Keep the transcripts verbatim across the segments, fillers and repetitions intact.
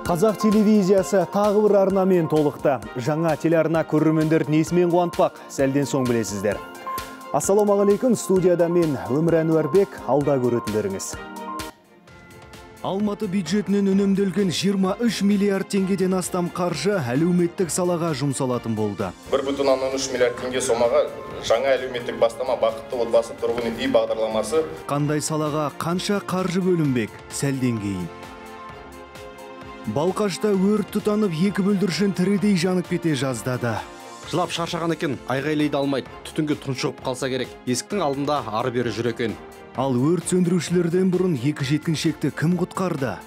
Қазақ телевизиясы тағы бір арнамен толықты. Жаңа телеарна көрермендер несімен қуантпақ, сәлден соң білесіздер. Ассалаумағалейкум, студияда мен Өмір Әнуарбек, алда көретіндеріңіз. Алматы бюджетінен үнемделген жиырма үш миллиард теңгеден астам қаржы әлеуметтік салаға жұмсалатын болды. бір бүтін оннан үш миллиард теңге сомаға жаңа әлеуметтік бастама бақытты отбасы тұрғын үй бағдарламасы. Қандай салаға қанша қаржы бөлінбек, сәлден кейін. Балқашта өрт тұтанып, екі бүлдіршін тірідей жанып кете жаздады. Жылап шаршаған екен, айғайлайды алмайды, түтінге тұншығып қалса керек. Есіктің алдында ары бері жүр екен. Ал өрт сөндірушілерден бұрын екі жеткіншекті кім құтқарды?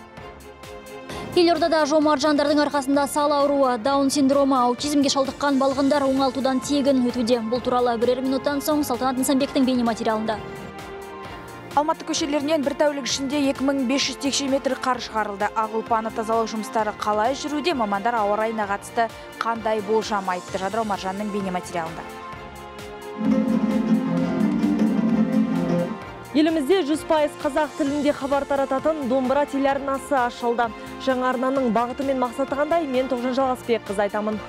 Елордада жомарт жандардың арқасында сал ауруы, даун синдромы, аутизмге шалдыққан балғындар оңалтудан тегін өтуде. Бұл туралы бірер минуттан соң Салтанат Нысанбектің бейнематериалында. Алматы көшелерінен бір тәулік ішінде екі мың бес жүз текше метр қар шығарылды. Ақ ұлпаны тазалық жұмыстары қалай жүруде, мамандар ауа райына қатысты қандай болжам айтты? Жадырау Маржанның бейнематериалында. Елімізде жүз пайыз қазақ тілінде хабар тарататын домбыра телеарнасы ашылды. Жаңа арнаның бағыты мен мақсаты қандай? Мен Тоғжан Жалғасбекқызы айтамын.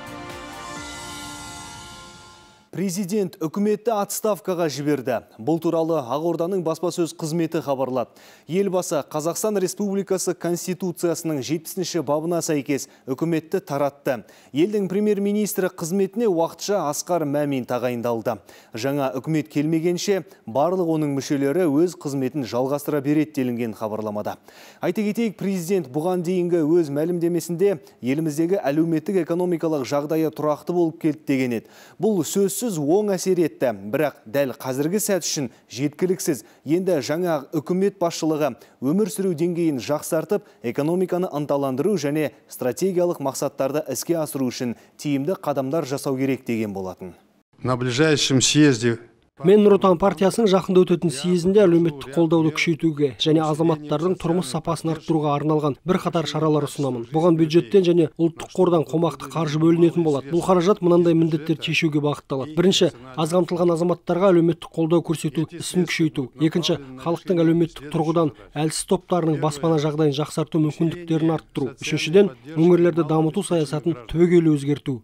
Президент үкіметті отставкаға жіберді. Бұл туралы Ақорданың баспасөз қызметі хабарлады. Елбасы Қазақстан Республикасы Конституциясының жетпісінші бабына сәйкес үкіметті таратты. Елдің премьер-министрі қызметіне уақытша Асқар Мәмин тағайындалды. Жаңа үкімет келмегенше барлық оның мүшелері өз қызметін жалғастыра береді делінген хабарламада. Айта кетейік, президент бұған дейінгі өз мәлімдемесінде еліміздегі әлеуметтік экономикалық жағдайы тұрақты болып келді деген еді. Бұл сөзсіз оң әсер етті, бірақ дәл қазіргі сәт үшін жеткіліксіз. Енді жаңа үкімет басшылығы өмір сүру деңгейін жақсартып, экономиканы ынталандыру және стратегиялық мақсаттарды іске асыру үшін тиімді қадамдар жасау керек деген болатын. На ближайшем съезде Мен Нұр Отан партиясының жақында өтетін съезінде әлеуметтік қолдауды күшейтуге және азаматтардың тұрмыс сапасын арттыруға арналған бір қатар шаралар ұсынамын. Бұған бюджеттен және ұлттық қордан қомақты қаржы бөлінетін болады. Бұл қаражат мынандай міндеттер шешуге бағытталады. Бірінші, аз қамтылған азаматтарға әлеуметтік қолдау көрсету ісін күшейту. Екінші, халықтың әлеуметтік тұрғыдан әлсіз топтарының баспана жағдайын жақсарту мүмкіндіктерін арттыру. Үшіншіден, өңірлерді дамыту саясатын түбегейлі өзгерту.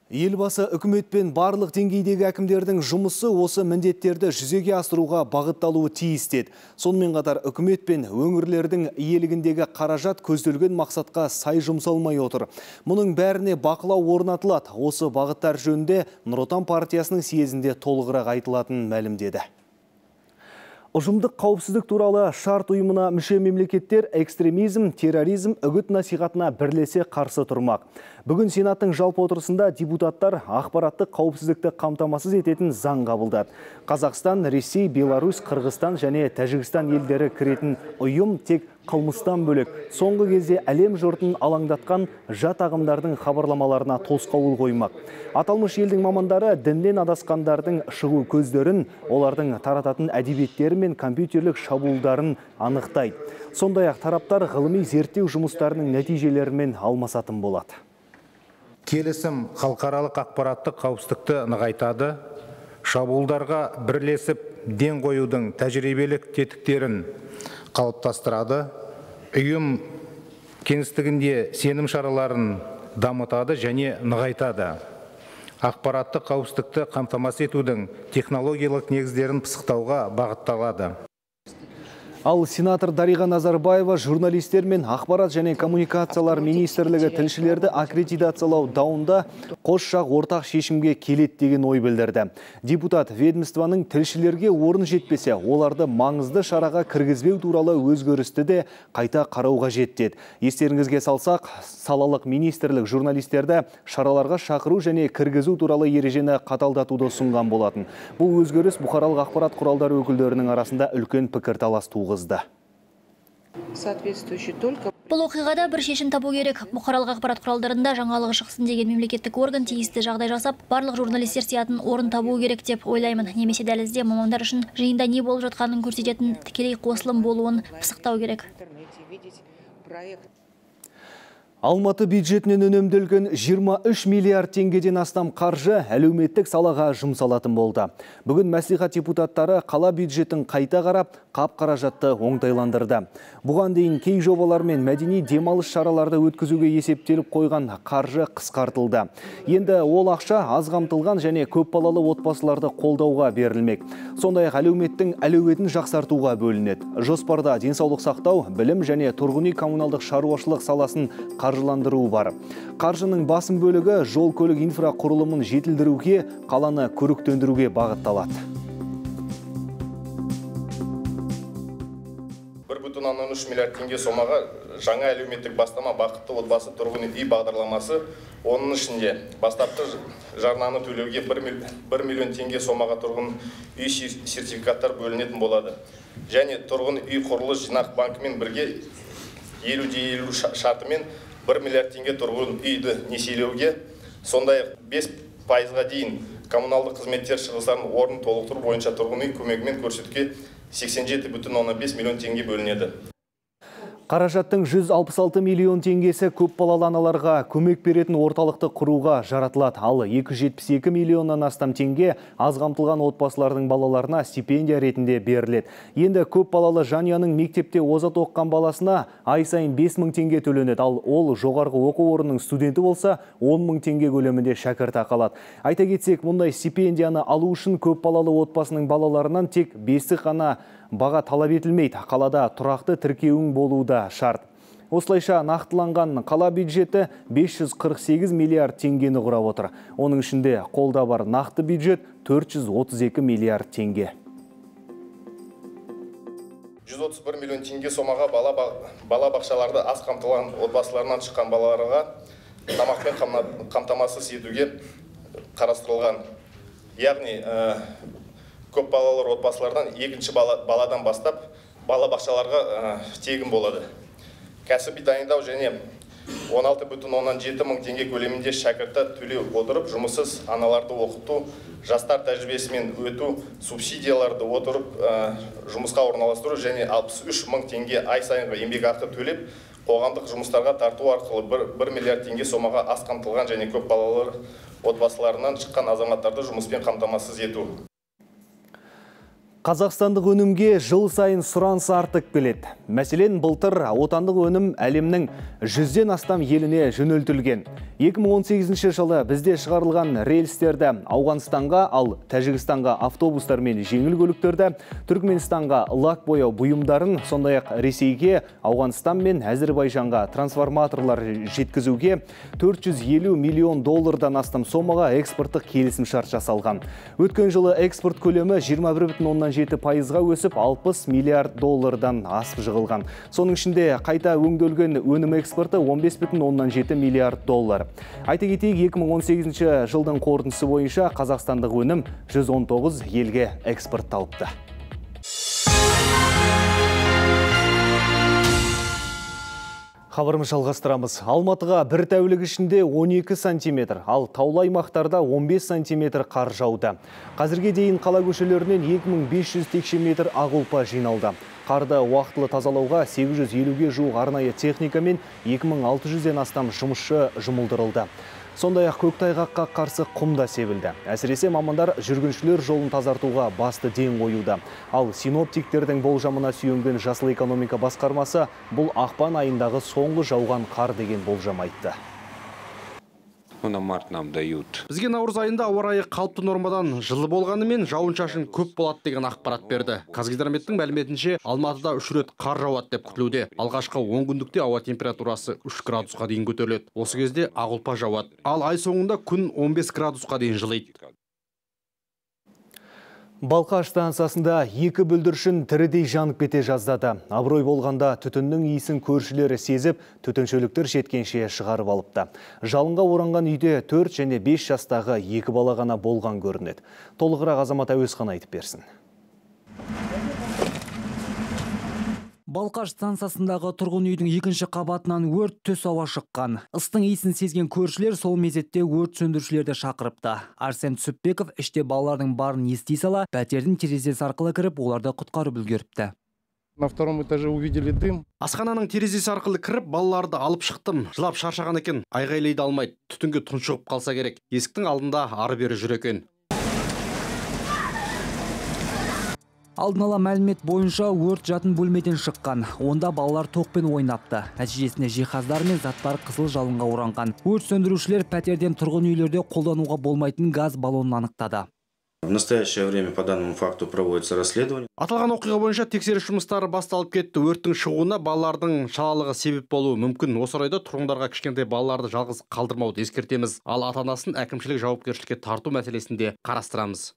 Елбасы үкіметпен барлық деңгейдегі әкімдердің жұмысы осы міндеттерді жүзеге асыруға бағытталуы тиіс деді. Сонымен қатар үкімет пен өңірлердің иелігіндегі қаражат көзделген мақсатқа сай жұмсалмай отыр. Мұның бәріне бақылау орнатылады. Осы бағыттар жөнінде Нұр Отан партиясының съезінде толығырақ айтылатынын мәлімдеді. Ұжымдық қауіпсіздік туралы шарт ұйымына мүше мемлекеттер экстремизм, терроризм үгіт насихатына бірлесе қарсы тұрмақ. Бүгін Сенаттың жалпы отырысында депутаттар ақпараттық қауіпсіздікті қамтамасыз ететін заң қабылдады. Қазақстан, Ресей, Беларусь, Қырғызстан және Тәжікстан елдері кіретін ұйым тек қылмыстан бөлек соңғы кезде әлем жұртын алаңдатқан жат ағымдардың хабарламаларына тосқауыл қоймақ. Аталмыш елдің мамандары діннен адасқандардың шығу көздерін, олардың тарататын әдебиеттері мен компьютерлік шабуылдарын анықтайды. Сондай-ақ тараптар ғылыми зерттеу жұмыстарының нәтижелерімен алмасатын болады. Келісім халықаралық ақпараттық қауіпсіздікті нығайтады, шабуылдарға бірлесіп ден қоюдың тәжірибелік тетіктерін қалыптастырады, ұйым кеңістігінде сенім шараларын дамытады және нығайтады. Ақпараттық қауіпсіздікті қамтамасыз етудің технологиялық негіздерін пысықтауға бағытталады. Ал сенатор Дариға Назарбаева журналистер мен ақпарат және коммуникациялар министрлігі тілшілерді аккредитациялау даунда қос жақ ортақ шешімге келеді деген ой білдірді. Депутат ведомствоның тілшілерге орын жетпесе, оларды маңызды шараға кіргізбеу туралы өзгерісті де қайта қарауға жетті. Естеріңізге салсақ, салалық министрлік журналистерді шараларға шақыру және кіргізу туралы ережені қаталдатуды ұсынған болатын. Бұл өзгеріс бұқаралық ақпарат құралдары өкілдерінің арасында үлкен пікірталас туғызды. Бұл оқиғада бір шешім табу керек. Бұқаралық ақпарат құралдарында жаңалығы шықсын деген мемлекеттік орган тиісті жағдай жасап, барлық журналистер сиятын орын табу керек деп ойлаймын. Немесе дәлізде мамандар үшін жиында не болып жатқанын көрсететін тікелей қосылым болуын пысықтау керек. Алматы бюджетінен үнемделген жиырма үш миллиард теңгеден астам қаржы әлеуметтік салаға жұмсалатын болды. Бүгін мәслихат депутаттары қала бюджетін қайта қарап, қап қаражатты оңтайландырды. Бұған дейін кей жобалар мен мәдени демалыс шараларды өткізуге есептеліп қойған қаржы қысқартылды. Енді ол ақша аз қамтылған және көп балалы отбасыларды қолдауға берілмек. Сондай-ақ әлеуметтің әлеуетін жақсартуға бөлінеді. Жоспарда денсаулық сақтау, білім және тұрғын үй коммуналдық шаруашылық саласын қаржыландыру бар. Қаржының басым бөлігі жол көлік инфрақұрылымын жетілдіруге, қаланы көріктендіруге бағытталады. бір бүтін оннан үш миллиард теңге сомаға жаңа әлеуметтік бастама бақытты отбасы тұрғын үй бағдарламасы, оның ішінде бастапқы жарнаны төлеуге бір миллион теңге сомаға тұрғын үй сертификаттар бөлінетін болады. Және тұрғын үй құрылыс жинақ банкімен бірге елу де елу шартымен бір миллиард теңге тұрғын үйді несиелеуге, сондай-ақ бес пайызға дейін коммуналдық қызметтер шығыстарын орнын толықтыру бойынша тұрғын үй көмегімен көрсетуге сексен жеті бүтін оннан бес миллион теңге бөлінеді. Қаражаттың жүз алпыс алты миллион теңгесі көп балалы аналарға көмек беретін орталықты құруға жаратылады. Ал екі жүз жетпіс екі миллионнан астам теңге аз қамтылған отбасылардың балаларына стипендия ретінде беріледі. Енді көп балалы жанұяның мектепте озат оқыған баласына ай сайын бес мың теңге төленеді. Ал ол жоғарғы оқу орнының студенті болса он мың теңге көлемінде шәкіртақы алады. Айта кетсек, мұндай стипендияны алу үшін көп балалы отбасының балаларынан тек бесі ғана баға талап етілмейді. Қалада тұрақты тіркеуің болуы шарт. Осылайша нақтыланған қала бюджеті бес жүз қырық сегіз миллиард теңгені құрап отыр. Оның ішінде қолда бар нақты бюджет төрт жүз отыз екі миллиард теңге. жүз отыз бір миллион теңге сомаға бала, бала бақшаларды аз қамтылған отбасыларынан шыққан балаларға тамақпен қамтамасыз етуге қарастырылған. Яғни көп балалар отбасылардан екінші баладан бастап бала бақшаларға тегін болады. Кәсіби дайындау және он алты бүтін оннан жеті мың теңге көлемінде шәкірті төлеу отырып, жұмыссыз аналарды оқыту, жастар тәжірибесімен өту, субсидияларды отырып, жұмысқа орналастыру және алпыс үш мың теңге ай сайынғы еңбекақы төлеп, қоғамдық жұмыстарға тарту арқылы бір миллиард теңге сомаға аз қамтылған және көп балалар отбасыларынан шыққан азаматтарды жұмыспен қамтамасыз ету. Қазақстандық өнімге жыл сайын сұраныс артып келеді. Мәселен, былтыр отандық өнім әлемнің жүзден астам еліне жөнелтілген. екі мың он сегізінші жылы бізде шығарылған рельстерді Ауғанстанға, ал Тәжікстанға автобустар мен жеңіл көліктерді, Түркменстанға лак бояу бұйымдарын, сондай-ақ Ресейге, Ауғанстан мен Әзербайжанға трансформаторлар жеткізуге төрт жүз елу миллион доллардан астам сомаға экспорттық келісімшарт жасалған. Өткен жылы экспорт көлемі жиырма бір бүтін оннан жеті пайызға өсіп, алпыс миллиард доллардан асып жығылған. Соның ішінде қайта өңделген өнім экспорты он бес бүтін оннан жеті миллиард доллар. Айта кетейік, екі мың он сегізінші жылдың қорытындысы бойынша қазақстандық өнім жүз он тоғыз елге экспортталыпты. Хабарымыз жалғастырамыз. Алматыға бір тәулік ішінде он екі сантиметр, ал таулы аймақтарда он бес сантиметр қар жауды. Қазірге дейін қала көшелерінен екі мың бес жүз текше метр ақ ұлпа жиналды. Қарды уақытылы тазалауға сегіз жүз елуге жуық арнайы техника мен екі мың алты жүзден астам жұмысшы жұмылдырылды. Сондай-ақ көктайғаққа қарсы құм да себілді. Әсіресе мамандар жүргіншілер жолын тазартуға басты ден қоюда. Ал синоптиктердің болжамына сүйенген жасыл экономика басқармасы бұл ақпан айындағы соңғы жауған қар деген болжам айтты. Бізге наурыз айында ауа райы қалыпты нормадан жылы болғанымен жауын-шашын көп болады деген ақпарат берді. Қазгидрометтің мәліметінше Алматыда үш рет қар жауады деп күтілуде. Алғашқы он күндікте ауа температурасы үш градусқа дейін көтеріледі. Осы кезде ақ ұлпа жауады. Ал ай соңында күн он бес градусқа дейін жылиды. Балқаш станциясында екі бүлдіршін тірідей жанып кете жаздады. Абырой болғанда түтіннің иісін көршілері сезіп, түтіншіліктер жеткенше шығарып алыпты. Жалынға оранған үйде төрт және бес жастағы екі бала ғана болған көрінеді. Толығырақ Азамат Әуесхан айтып берсін. Балқаш станциясындағы тұрғын үйдің екінші қабатынан өрт түс ауа шыққан. Ыстың иісін сезген көршілер сол мезетте өрт сөндірушілерді шақырыпты. Арсен Түсіпбеков іште балалардың барын ести сала, пәтердің терезесі арқылы кіріп, оларды құтқарып үлгеріпті. На втором этаже увидели дым. Асхананың терезесі арқылы кіріп, балаларды алып шықтым. Жылап шаршаған екен, айғайлайды алмайды. Түтінге тұншығып қалса керек. Есіктің алдында ары-бері жүр екен. Алдын ала мәлімет бойынша өрт жатын бөлмеден шыққан. Онда балалар тоқпен ойнапты. Нәтижесінде жиһаздар мен заттар қызыл жалынға оранған. Өрт сөндірушілер пәтерден тұрғын үйлерде қолдануға болмайтын газ баллонын анықтады. В настоящее время по данному факту проводится расследование. Аталған оқиға бойынша тексеріс жұмыстары басталып кетті. Өрттің шығуына балалардың шалалығы себеп болуы мүмкін. Осы орайда тұрғындарға кішкентай балаларды жалғыз қалдырмауды ескертеміз. Ал ата-анасын әкімшілік жауапкершілікке тарту мәселесінде қарастырамыз.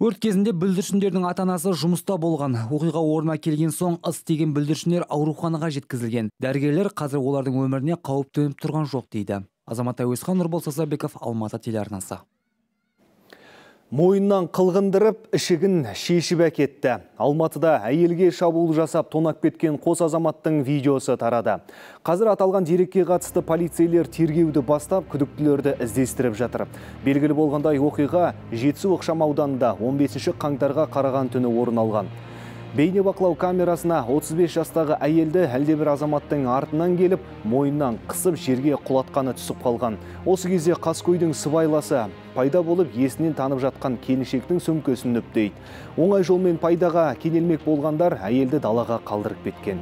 Өрт кезінде бүлдіршіндердің ата-анасы жұмыста болған. Оқиға орнына келген соң ыс тиген бүлдіршіндер ауруханаға жеткізілген. Дәрігерлер қазір олардың өміріне қауіп төніп тұрған жоқ дейді. Азамат Әуесхан, Нұрбол Сазарбеков, Алматы телеарнасы. Мойыннан қылғындырып, ішігін шешіп әкетті. Алматыда әйелге шабуыл жасап тонап кеткен қос азаматтың видеосы тарады. Қазір аталған дерекке қатысты полицейлер тергеуді бастап, күдіктілерді іздестіріп жатыр. Белгілі болғандай оқиға Жетісу ықшам ауданында он бесінші қаңтарға қараған түні орын алған. Бейнебақылау камерасына отыз бес жастағы әйелді әлдебір азаматтың артынан келіп, мойнынан қысып жерге құлатқаны түсіп қалған. Осы кезде қаскөйдің сыбайласы пайда болып, есінен танып жатқан келіншектің сөмкесін үптейді. Оңай жолмен пайдаға кенелмек болғандар әйелді далаға қалдырып кеткен.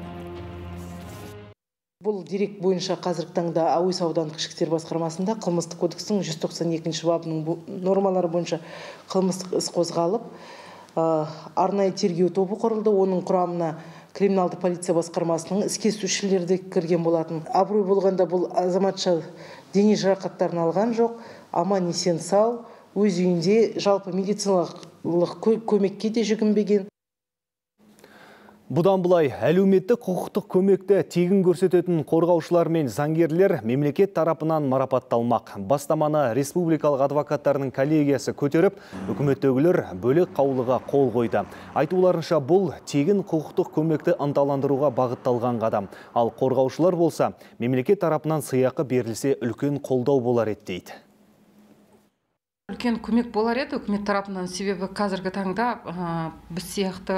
Бұл дерек бойынша қазіргі таңда Әуес аудандық ішкі істер басқармасында қылмыстық кодекстің жүз тоқсан екінші бабының нормалары бойынша қылмыстық іс қозғалып, арнайы тергеу тобы құрылды. Оның құрамына криминалды полиция басқармасының іске де кірген болатын. Абырой болғанда бұл азаматша дене жарақаттарын алған жоқ, аман есен сау, өз үйінде жалпы медициналық көмекке де жүгінбеген. Бұдан бұлай әлеуметтік құқықтық көмекті тегін көрсететін қорғаушылар мен заңгерлер мемлекет тарапынан марапатталмақ. Бастаманы республикалық адвокаттарының коллегиясы көтеріп, үкіметтегілер бөлек қаулыға қол қойды. Айтуларынша бұл тегін құқықтық көмекті ынталандыруға бағытталған қадам. Ал қорғаушылар болса, мемлекет тарапынан сыйақы берілсе үлкен қолдау болар еді дейді. Үлкен көмек болар еді үкімет тарапынан, себебі қазіргі таңда біз сияқты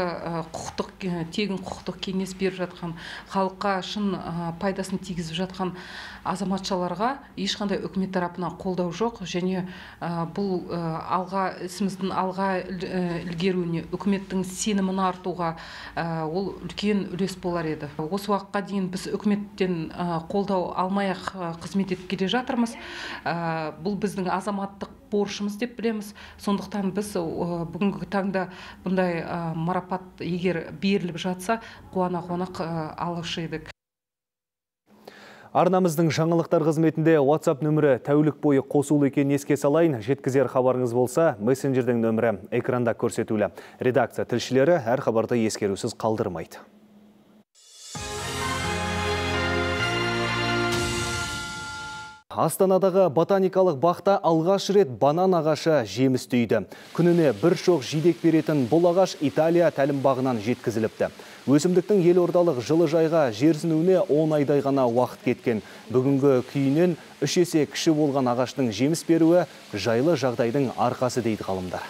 құқықтық тегін құқықтық кеңес беріп жатқан, халыққа шын пайдасын тигізіп жатқан азаматшаларға ешқандай үкімет тарапынан қолдау жоқ, және бұл алға ісіміздің алға ілгеруіне, үкіметтің сенімін артуға ол үлкен үлес болар еді. Осы уақытқа дейін біз үкіметтен қолдау алмай-ақ қызмет етіп келе жатырмыз. Бұл біздің азаматтық борышымыз деп білеміз. Сондықтан біз бүгінгі таңда бұндай марапат егер беріліп жатса, қуана-қуана алушы едік. Арнамыздың жаңалықтар қызметінде WhatsApp нөмірі тәулік бойы қосулы екенін еске салайын. Жеткізер хабарыңыз болса, мессенджердің нөмірі экранда көрсетулі. Редакция тілшілері әр хабарды ескерусіз қалдырмайды. Астанадағы ботаникалық бақта алғаш рет банан ағашы жеміс түйді. Күніне бір шоқ жидек беретін бұл ағаш Италия тәлімбағынан жеткізіліпті. Өсімдіктің елордалық жылыжайға жерсінуіне он айдай ғана уақыт кеткен. Бүгінгі күйінен үш есе кіші болған ағаштың жеміс беруі жайлы жағдайдың арқасы дейді ғалымдар.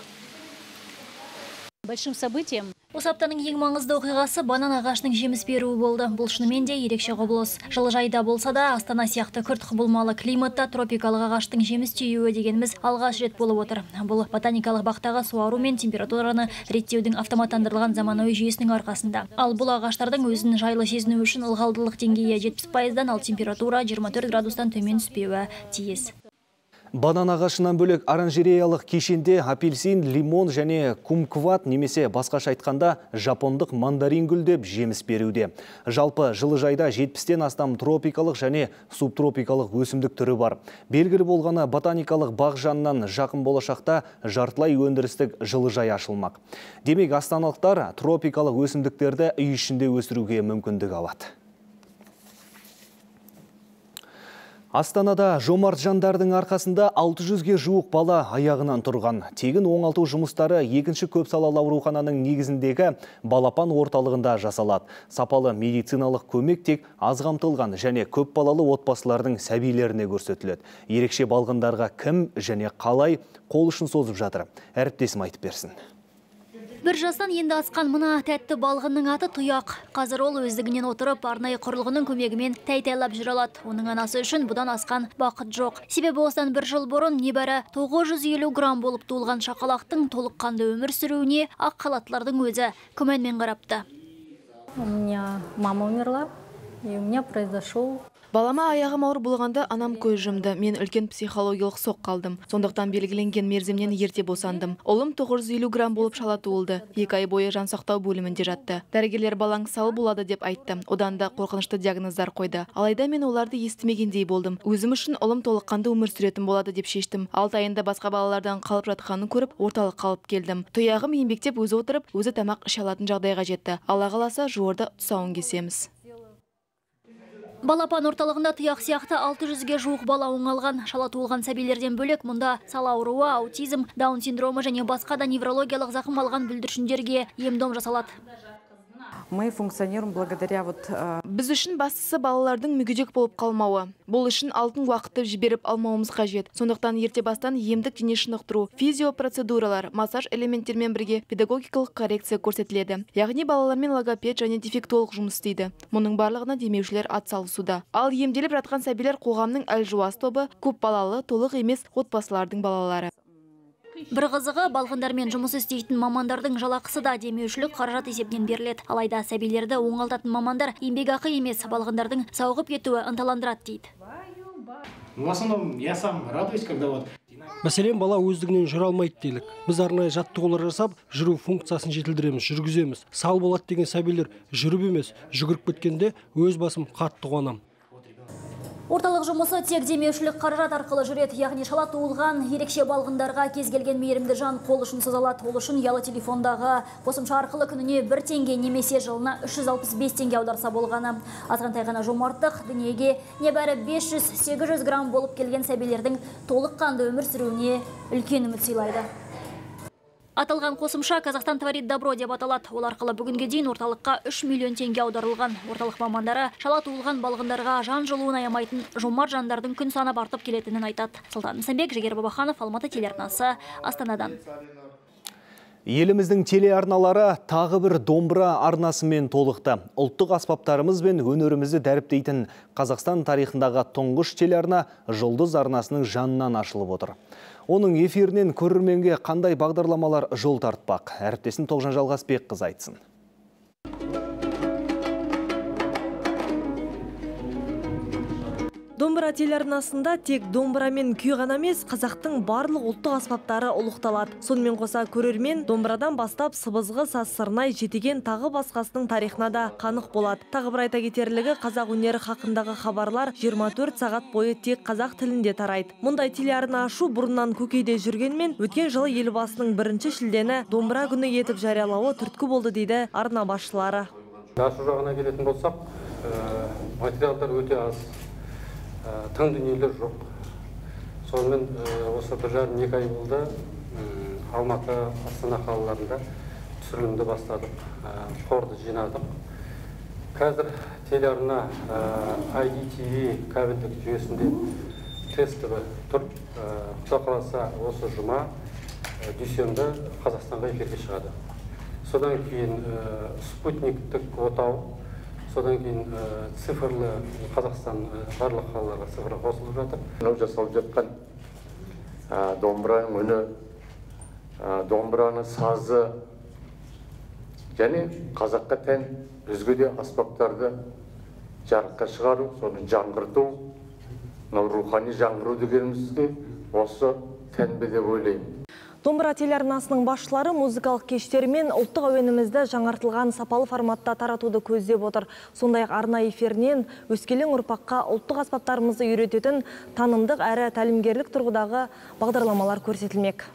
Большим событием. Осы аптаның ең маңызды оқиғасы банан ағашының жеміс беруі болды. Бұл шынымен де ерекше құбылыс. Жылыжайда болса да, Астана сияқты күрт құбылмалы климатта тропикалық ағаштың жеміс түйуі дегеніміз алғаш рет болып отыр. Бұл ботаникалық бақтағы суару мен температураны реттеудің автоматтандырылған заманауи жүйесінің арқасында. Ал бұл ағаштардың өзін жайлы сезіну үшін ылғалдылық деңгейі жетпіс пайыздан, ал температура жиырма төрт градустан төмен түспеуі тиіс. Банан ағашынан бөлек оранжереялық кешенде апельсин, лимон және кумкват немесе басқаша айтқанда жапондық мандарин гүлдеп жеміс беруде. Жалпы жылыжайда жетпістен астам тропикалық және субтропикалық өсімдік түрі бар. Белгілі болғаны ботаникалық бақ жанынан жақын болашақта жартылай өндірістік жылыжай ашылмақ. Демек астаналықтар тропикалық өсімдіктерді үй ішінде өсіруге мүмкіндік алады. Астанада жомарт жандардың арқасында алты жүзге жуық бала аяғынан тұрған. Тегін оңалту жұмыстары екінші көпсалалы аурухананың негізіндегі балапан орталығында жасалады. Сапалы медициналық көмек тек аз қамтылған және көп балалы отбасылардың сәбилеріне көрсетіледі. Ерекше балғындарға кім және қалай қол ұшын созып жатыр? Әріптесім айтып берсін. Бір жастан енді асқан мына тәтті балғынның аты Тұяқ. Қазір ол өздігінен отырып, арнайы құрылғының көмегімен тәй-тәйлап жүре алады. Оның анасы үшін бұдан асқан бақыт жоқ. Себебі осыдан бір жыл бұрын небәрі тоғыз жүз елу грамм болып туылған шақалақтың толыққанды өмір сүруіне ақ халаттылардың өзі күмәнмен қарапты. У меня мама умерла, и у меня произошел... Балама аяғым ауыр болғанда анам көз жұмды. Мен үлкен психологиялық соқ қалдым. Сондықтан белгіленген мерзімнен ерте босандым. Ұлым тоғыз жүз елу грамм болып шала туылды. Екі ай бойы жансақтау бөлімінде жатты. Дәрігерлер балаң сау болады деп айтты. Одан да қорқынышты диагноздар қойды. Алайда мен оларды естімегендей болдым. Өзім үшін ұлым толыққанды өмір сүретін болады деп шештім. Алты айында басқа балалардан қалып жатқанын көріп, орталық қалып келдім. Тұяғым еңбектеп өзі отырып, өзі тамақ іше алатын жағдайға жетті. Алла қаласа жуырда тұсауын кесеміз. Балапан орталығында Тұяқ сияқты алты жүзге жуық бала оңалған. Шала туылған сәбилерден бөлек мұнда сала ауруы, аутизм, даун синдромы және басқа да неврологиялық зақым алған бүлдіршіндерге ем-дом жасалады. Мы функционируем благодаря вот... Біз үшін бастысы балалардың мүгедек болып қалмауы. Бұл үшін алтын уақытты жіберіп алмауымыз қажет. Сондықтан ерте бастан емдік дене шынықтыру, физиопроцедуралар, массаж элементтермен бірге педагогикалық коррекция көрсетіледі. Яғни балалармен логопед және дефектолог жұмыс істейді. Мұның барлығына демеушілер атсалысуда. Ал емделіп жатқан сәбилер қоғамның әлжуаз тобы, көп балалы, толық емес отбасылардың балалары. Бір қызығы, балғындармен жұмыс істейтін мамандардың жалақысы да демеушілік қаражат есебінен беріледі. Алайда сәбилерді оңалтатын мамандар еңбекақы емес, балғындардың сауығып кетуі ынталандырады дейді. В основном я сам радуюсь, когда вот... Мәселен, бала өздігінен жүре алмайды делік. Біз арнайы жаттығулар жасап, жүру функциясын жетілдіреміз, жүргіземіз. Сау болады деген сәбилер жүріп емес, жүгіріп кеткенде өз басым қатты қуанам. Орталық жұмысы тек демеушілік қаражат арқылы жүреді, яғни шала туылған ерекше балғындарға кез келген мейірімді жан қол ұшын созалады. Ол үшін ұялы телефондағы қосымша арқылы күніне бір теңге немесе жылына үш жүз алпыс бес теңге аударса болғаны. Азғантай ғана жомарттық дүниеге небәрі бес жүз сегіз жүз грамм болып келген сәбилердің толыққанды өмір сүруіне үлкен үміт сыйлайды. Аталған қосымша Қазақстан творит добро деп аталады. Ол арқылы бүгінге дейін орталыққа үш миллион теңге аударылған. Орталық мамандары шала туылған балғындарға жан жылуын аямайтын жомарт жандардың күн санап артып келетінін айтады. Сұлтан Мсенбек, Жігер Бабаханов, Алматы телеарнасы, Астанадан. Еліміздің телеарналары тағы бір домбыра арнасымен толықты. Ұлттық аспаптарымыз бен өнерімізді дәріптейтін Қазақстан тарихындағы тұңғыш телеарна Жұлдыз арнасының жанынан ашылып отыр. Оның эфирінен көрерменге қандай бағдарламалар жол тартпақ? Әріптесім Тоғжан Жалғасбек қыз айтсын. Домбыра телеарнасында тек домбыра мен күй ғана емес, қазақтың барлық ұлттық аспаптары ұлықталады. Сонымен қоса көрермен домбырадан бастап сыбызғы, саз, сырнай, жетеген тағы басқасының тарихына да қанық болады. Тағы бір айта кетерлігі, қазақ өнері хақындағы хабарлар жиырма төрт сағат бойы тек қазақ тілінде тарайды. Мұндай телеарна ашу бұрыннан көкейде жүргенмен, өткен жылы елбасының бірінші шілдені домбыра күні етіп жариялауы түрткі болды дейді арна басшылары. Ашу жағына келетін болсақ, материалдар өте аз. Тың дүниелер жоқ. Сонымен осы бір жарым екі ай болды, Алматы, Астана қалаларында түсірілімді бастадық, қорды жинадық. Қазір телеарна ай ди ти ви кабельдік жүйесінде тестовый тұр. Құда қаласа осы жұма, дүйсенбі Қазақстанға эфирге шығады. Содан кейін спутниктік отау, содан кейін цифрлы Қазақстан барлық қалаларға цифрға қосылып жатыр. Мынау жасалып жатқан домбыраның үні, домбыраның сазы және қазаққа тән өзге де аспаптарды жарыққа шығару, соны жаңғырту, мынау рухани жаңғыру дегенімізге осы тән бе деп ойлаймын. Домбыра телеарнасының басшылары музыкалық кештермен ұлттық әуенімізді жаңартылған сапалы форматта таратуды көздеп отыр. Сондай-ақ арна эфирінен өскелең ұрпаққа ұлттық аспаптарымызды үйрететін танымдық әрі тәлімгерлік тұрғыдағы бағдарламалар көрсетілмек.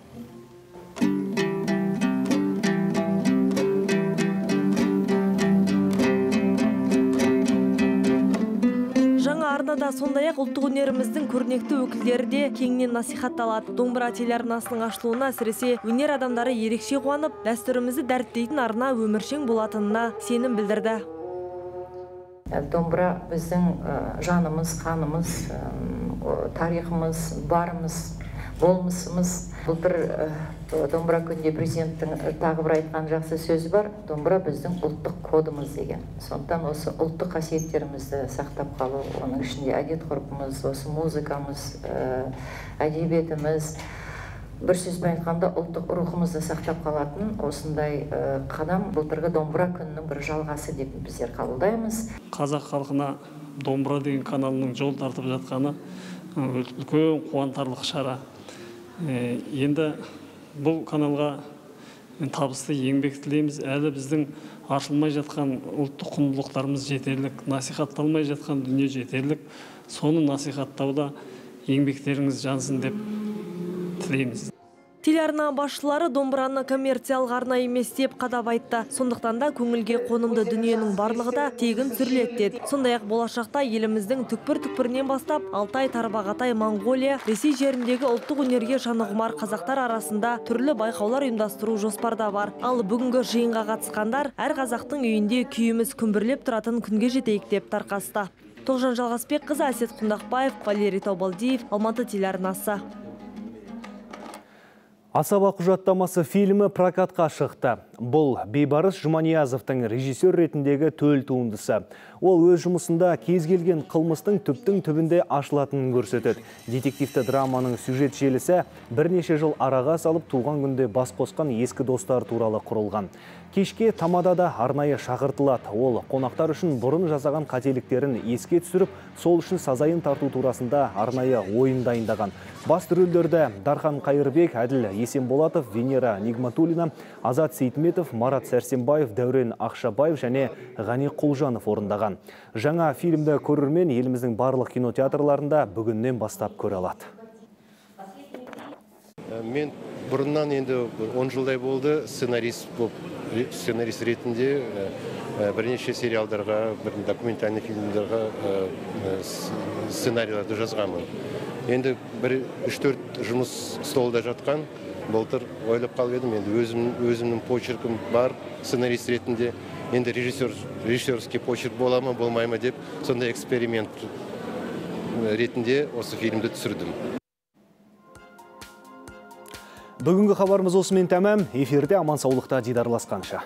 Арнада сондай-ақ ұлттық өнеріміздің көрнекті өкілдері де кеңінен насихатталады. Домбыра телеарнасының ашылуына әсіресе өнер адамдары ерекше қуанып, дәстүрімізді дәріптейтін арна өміршең болатынына сенім білдірді. Домбыра біздің жанымыз, қанымыз, тарихымыз, барымыз. болмысымыз. Былтыр домбыра күнінде президенттің тағы бір айтқан жақсы сөзі бар. Домбыра біздің ұлттық кодымыз деген. Сондықтан осы ұлттық қасиеттерімізді сақтап қалу, оның ішінде әдет-ғұрпымыз, осы музыкамыз, әдебиетіміз, бір сөзбен айтқанда ұлттық рухымызды сақтап қалатын осындай қадам былтырғы домбыра күнінің бір жалғасы деп біздер қабылдаймыз. Қазақ халқына домбыра деген каналының жол тартып жатқаны үлкен қуантарлық шара. Енді бұл каналға табысты еңбек тілейміз. Әлі біздің ашылмай жатқан ұлттық құндылықтарымыз жетерлік, насихатталмай жатқан дүние жетерлік. Соны насихаттауда еңбектеріңіз жансын деп тілейміз. Телеарна басшылары домбыраны коммерциялық арна емес деп қадап айтты. Сондықтан да көңілге қонымды дүниенің барлығы да тегін түсіріледі деді. Сондай-ақ болашақта еліміздің түкпір-түкпірінен бастап Алтай, Тарбағатай, Моңғолия, Ресей жеріндегі ұлттық өнерге жаны құмар қазақтар арасында түрлі байқаулар ұйымдастыру жоспарда бар. Ал бүгінгі жиынға қатысқандар әр қазақтың үйінде күйіміз күмбірлеп тұратын күнге жетейік деп тарқасты. Тоғжан Жалғасбекқызы, Әсет Құндақбаев, Валерий Таубалдиев, Алматы телеарнасы. Асаба құжаттамасы фильмі прокатқа шықты. Бұл Бейбарыс Жұманиязовтың режиссер ретіндегі төл туындысы. Ол өз жұмысында кез келген қылмыстың түптің түбінде ашылатынын көрсетеді. Детективті драманың сюжет желісі бірнеше жыл араға салып туған күнде бас қосқан ескі достар туралы құрылған. Кешке тамадада арнайы шақыртылады. Ол қонақтар үшін бұрын жасаған қателіктерін еске түсіріп, сол үшін сазайын тарту турасында арнайы ойын дайындаған. Басты рөлдерді Дархан Қайырбек, Әділ Есенболатов, Венера Нигматуллина, Азат Сейтметов, Марат Сәрсенбаев, Дәурен Ақшабаев және Ғани Құлжанов орындаған. Жаңа фильмді көрермен еліміздің барлық кинотеатрларында бүгіннен бастап көре алады. Мен бұрыннан енді он жылдай болды сценарист болып, сценарист ретінде бірнеше сериалдарға, документальный фильмдерға сценарийларды жазғанмын. Енді бір үш-төрт жұмыс столда жатқан, былтыр ойлап қалып едім, енді өзімнің почеркім бар сценарист ретінде, енді режиссерский почерк бола ма, болмай ма деп, сондай эксперимент ретінде осы фильмді түсірдім. Бүгінгі хабарымыз осымен тәмам. Эфирде аман саулықта дидарласқанша.